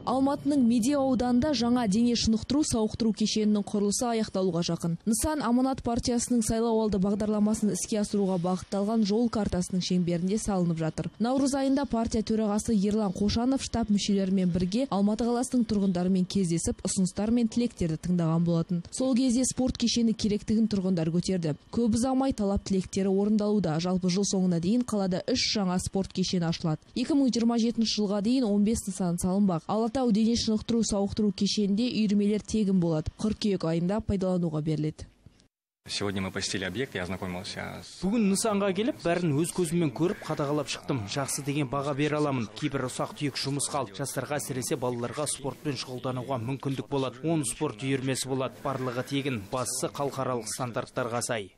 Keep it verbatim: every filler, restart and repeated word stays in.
Алматының Медеу ауданында жаңа дене шынықтыру сауықтыру кешенінің құрылысы аяқталуға жақын. Нысан Аманат партиясының сайлауалды бағдарламасын іске асыруға бағытталған жол картасының шеңберінде салынып жатыр. Наурыз айында партия төрағасы Ерлан Қошанов штаб мүшелерімен бірге Алматы қаласының тұрғындарымен кездесіп, ұсыныстар мен тілектерді тыңдаған болатын. Сол кезде спорт кешені керектігін тұрғындар көтерді. Көп ұзамай талап тілектері орындалуда. Жалпы жыл соңына дейін қалада үш жаңа спорт кешені ашылады. екі мың жиырма жетінші жылға дейін он бес нысан салынбақ. Алатау дене шынықтыру сауықтыру кешенінде үйірмелер тегін болады. Қыркүйек айында пайдалануға беріледі. Сегодня мы посетили объект, я ознакомился с... Бүгін нысанға келіп, бәрін өз көзіммен көріп, қадағалап шықтым. Жақсы деген баға бере аламын. Кейбір ұсақ түйек жұмыс қалды. Жастарға, әсіресе балаларға спортпен шұғылдануға мүмкіндік болады. он спорт үйірмесі болады. Барлығы тегін, бастысы халықаралық стандарттарға сай.